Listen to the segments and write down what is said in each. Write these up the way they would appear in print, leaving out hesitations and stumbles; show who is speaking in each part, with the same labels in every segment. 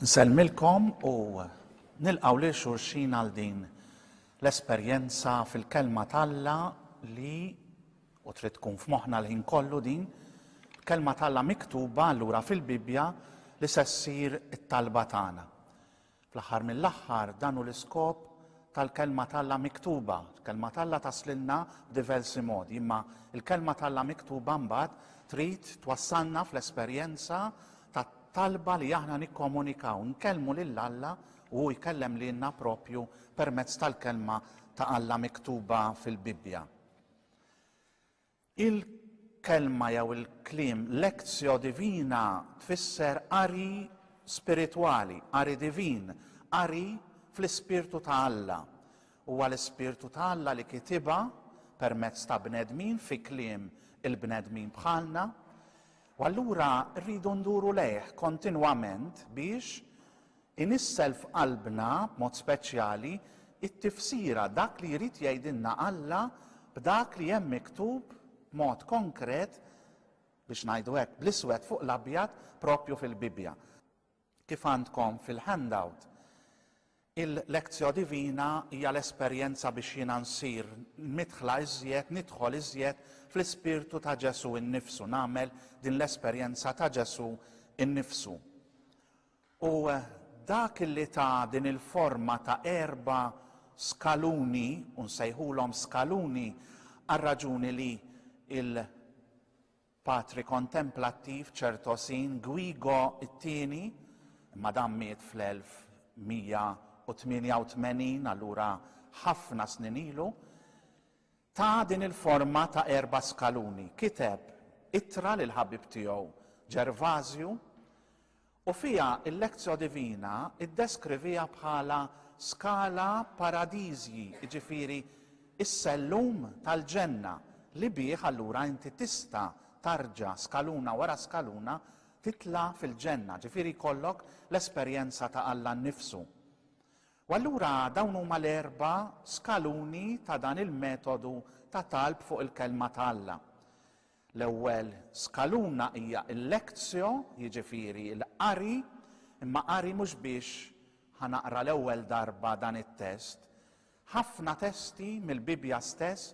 Speaker 1: Nsellmilkom u nilqgħu lil xulxin għal din l-esperjenza fil-Kelma t'Alla li u trid tkun f'moħħna l-ħin kollu din, Kelma t'Alla miktuba allura fil-Bibbja li se ssir it-talba tagħna. Fl-aħħar mill-aħħar dan hu l-iskop tal-Kelma t'Alla miktuba. Il-Kelma t'Alla taslilna b'diversi modi, imma il-Kelma t'Alla miktuba mbagħad trid twassalna fl-esperjenza ta' talba li aħna nikkomunikaw, nkellmu lil Alla u hu jkellem lilna propju permezz tal-Kelma ta' Alla miktuba fil-Bibbja. Il-kelma jew il-kliem lectio divina tfisser qari spiritwali, qari divin, qari fl-Ispirtu ta' Alla. Huwa l-Ispirtu ta' Alla li kitibha permezz ta' bnedmin fi kliem il-bnedmin bħalna. U allura rridu nduru lejh kontinwament biex Inissel f'qalbna, b'mod speċjali, it-tifsira, dak li jrid jgħidilna Alla b'dak li hemm miktub b'mod konkret, biex ngħidu hekk, bl-iswed fuq l-abjad, proprju fil-Bibbja. Kif għandkom fil-handout, il-Lectio Divina hija l-esperjenza biex jiena nsir midħla iżjed, nidħol iżjed fl-ispirtu ta' Ġesù innifsu, nagħmel din l-esperjenza ta' Ġesù innifsu. U dak li ta din il-forma ta' erba' skaluni, u nsejħulhom skaluni għar-raġuni li il-patri kontemplattiv Ċertosin Guigo t-Tieni, imma dan miet fl-1188, allura ħafna snin ilu, ta din il-forma ta' erba' skaluni. Kiteb ittra lill-ħabib tiegħu Ġervażju, U fiha il-Lectio Divina ddeskriviha bħala scala paradisi, jiġifieri s-sellum tal-ġenna li bih allura inti tista' tarġa' skaluna wara skaluna titla' fil-ġenna, ġifieri jkollok l-esperjenza ta' Alla nnifsu. U allura dawn huma l-erba' skaluni ta' dan il-metodu ta' talb fuq il-Kelma ta' Alla. L-ewwel skaluna hija l-lectio, jiġifieri l-qari, imma qari mhux biex ħa naqra l-ewwel darba dan it-test. Ħafna testi mill-Bibbja stess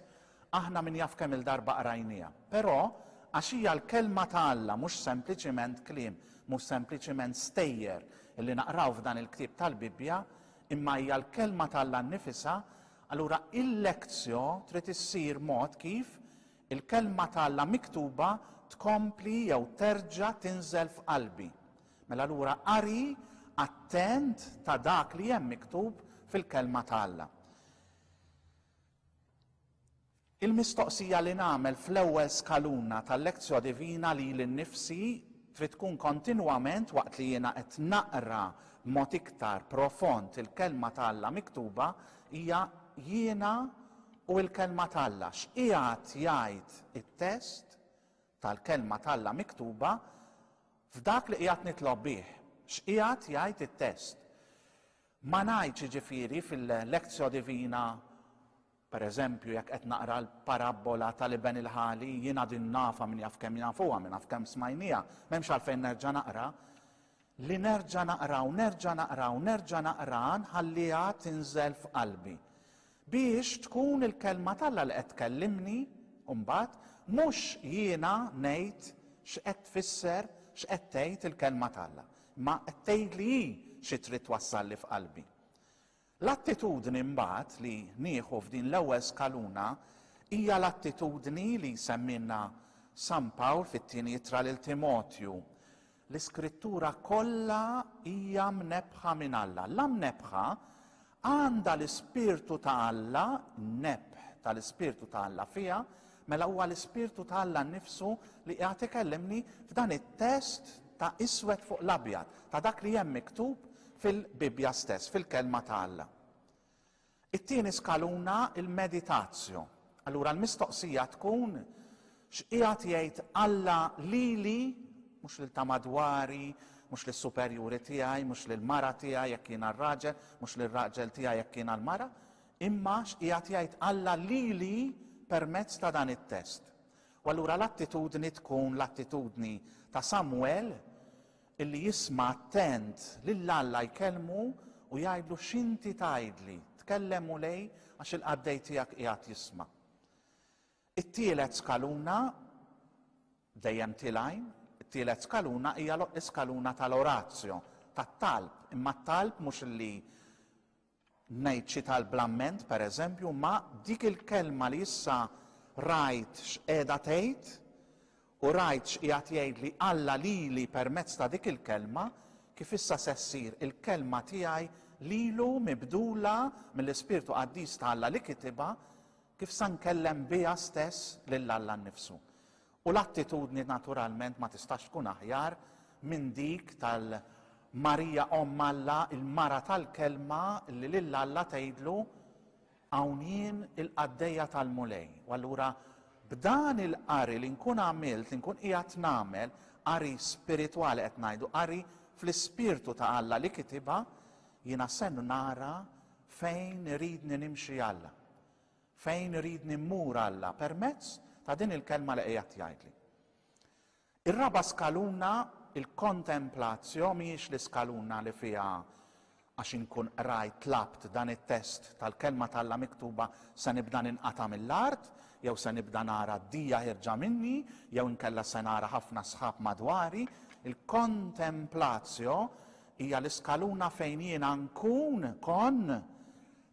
Speaker 1: aħna min jaf kemm-il darba qrajniha. Però għax hija l-Kelma ta' Alla mhux sempliċiment kliem, mhux sempliċiment stejjer li naqraw f'dan il-ktieb tal-Bibbja, imma hija l-Kelma ta' Alla nnifisha, allura il-lectio trid issir mod kif Il-Kelma ta' Alla miktuba tkompli jew terġa' tinżel f'qalbi. Mela allura qari attent ta' dak li hemm miktub fil-Kelma ta' Alla. Il-mistoqsija li nagħmel fl-ewwel skaluna tal-Lectio Divina lili nnifsi trid tkun kontinwament waqt li jiena qed naqra b'mod iktar profond il-Kelma ta' Alla miktuba hija jiena U l-Kelma t'Alla, x'qiegħed jgħid it-test tal-Kelma t'Alla miktuba f'dak li qiegħed nitlob bih? X'qiegħed jgħid it-test? Ma ngħidx jiġifieri fil-Lectio Divina, per eżempju, jekk qed naqra l-parabbola tal-iben il-ħali, jiena din nafha min jaf kemm jafuha, min jaf kemm smajniha, m'hemmx għalfejn nerġa' naqra. Li nerġa' naqra u nerġa' naqra u nerġa' naqra nħalliha tinżel f'qalbi. Biex tkun il-Kelma t'Alla li qed tkellimni mbagħad, mhux jiena ngħid x'qed tfisser, x'qed tgħid il-Kelma t'Alla, imma qed tgħidli hi xi trid twassalli f'qalbi. L-attitudni mbagħad li nieħu f'din l-ewwel skaluna hija l-attitudni li jsemmilna San Pawl fit-tieni ittra lil Timotju. L-Iskrittura kollha hija mnebbħa minn Alla. La mnebbħa għandha l-Ispirtu ta' Alla, n-nebħ tal-Ispirtu ta' Alla fiha, mela huwa l-Ispirtu ta' Alla nnifsu li qiegħed ikellimni f'dan it-test ta' iswed fuq l-abjad, ta' dak li hemm miktub fil-Bibbja stess, fil-Kelma ta' Alla. It-tieni skaluna il-meditatio. Allura l-mistoqsija tkun x'qiegħed jgħid Alla lili, mhux lil ta' madwari, mhux lis-superjuri tiegħi, mhux lill-mara tiegħi jekk jiena r-raġel, mhux lir-raġel tiegħi jekk jiena l-mara, imma x'qiegħed jgħid Alla lili permezz ta' dan it-test. U allura l-attitudni tkun l-attitudni ta' Samwel. illi jisma' attent lil Alla jkellmu u jgħidlu x'inti tgħidli, tkellem Mulej għax il-qaddej tiegħek qiegħed jisma'. It-tielet skaluna dejjem tilgħin, it-tielet skaluna hija l-iskaluna tal-orazio, tat-talb, imma t-talb mhux li Ngħid xi talb bl-amment, per eżempju, ma dik il-kelma li issa rajt x'qiegħda tgħid u rajt x'qiegħed jgħidli Alla lili permezz ta' dik il-kelma, kif issa se ssir il-kelma tiegħi lilu mibdula mill-Ispirtu Qaddis ta' Alla li kitibha, kif sa nkellem biha stess lil Alla nnifsu. U l-attitudni naturalment ma tistax tkun aħjar minn dik tal Marija Omm Alla, il-mara tal-Kelma li lil Alla tgħidlu, Hawn jien il-qaddejja tal-Mulej. U allura b'dan il-qari li nkun għamilt, li nkun qiegħed nagħmel, qari spiritwali qed ngħidu, qari fl-ispirtu ta' Alla li kitibha, jiena se nara fejn iridni nimxi Alla. Fejn iridni mmur Alla permezz ta' din il-kelma li qiegħed jgħidli. Ir-raba' skaluna, il-kontemplatio, mhijiex l-iskaluna li fiha għax inkun qrajt tlabt dan it-test tal-kelma t'Alla miktuba se nibda ninqata' mill-art, jew se nibda nara d-dija ħierġa minni, jew inkella se nara ħafna sħab madwari. Il-kontemplatio hija l-iskaluna fejn jiena nkun kon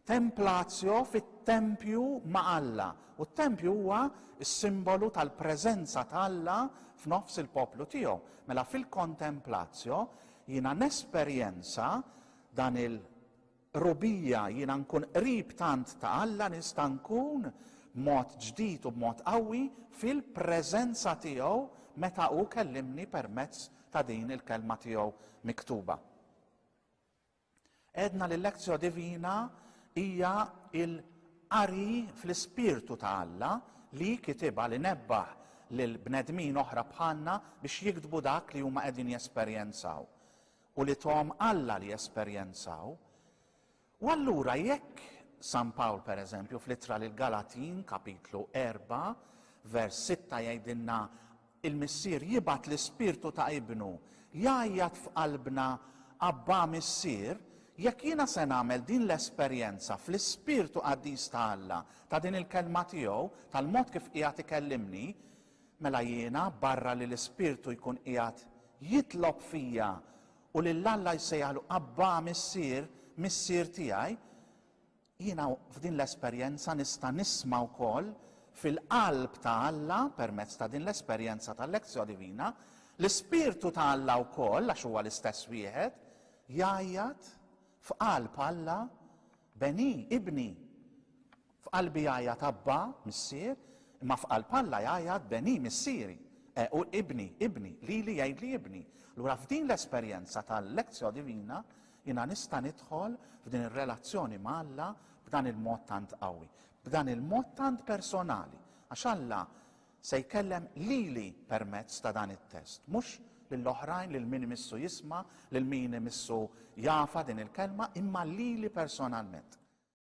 Speaker 1: Templatio fit-tempju ma' Alla, u t-tempju huwa s-simbolu tal-preżenza ta' Alla f'nofs il-poplu tiegħu. Mela fil-kontemplatio jiena nesperjenza dan il-qrubija, jiena nkun qrib tant ta' Alla nista' nkun b'mod ġdid u b'mod qawwi fil-preżenza tiegħu meta hu kellimni permezz ta' din il-kelma tiegħu miktuba. Għedna li l-Lectio Divina hija l-qari fl-Ispirtu ta' Alla li kitibha, li nebbaħ lil bnedmin oħra bħalna biex jiktbu dak li huma qegħdin jesperjenzaw u li thom Alla li jesperjenzaw. U allura jekk San Pawl pereżempju fl-ittra lill-Galatin kapitlu 4 vers 6 jgħidilna Il-Missier jibgħat l-Ispirtu ta' Ibnu jgħajjat f'qalbna Abbà Missier, jekk jiena se nagħmel din l-esperjenza fl-Ispirtu Qaddis ta' Alla, ta' din il-Kelma tiegħu, tal-mod kif qiegħed ikellimni, mela jiena, barra li l-Ispirtu jkun qiegħed jitlob fija u lil Alla jsejjaħlu Abbà Missier, Missier tiegħi, Jiena f'din l-esperjenza nista' nisma' wkoll fil-qalb ta' Alla, permezz ta' din l-esperjenza tal-Lectio Divina, l-Ispirtu ta' Alla wkoll, għax huwa l-istess wieħed, jgħajjat f'qalb Alla, Beni, ibni. F'qalbi jgħajjat Abba, Missier, imma f'qalb Alla jgħajjat Beni, missieri. E, u ibni, ibni, lili jgħidli ibni. Allura f'din l-esperjenza tal-Lectio Divina Jiena nista' nidħol f'din ir-relazzjoni ma' Alla b'dan il-mod tant qawwi, b'dan il-mod tant personali, għax Alla se jkellem lili permezz ta' dan it-test, mhux lill-oħrajn, lil min imissu jisma', lil min imissu jafa din il-kelma, imma lili personalment.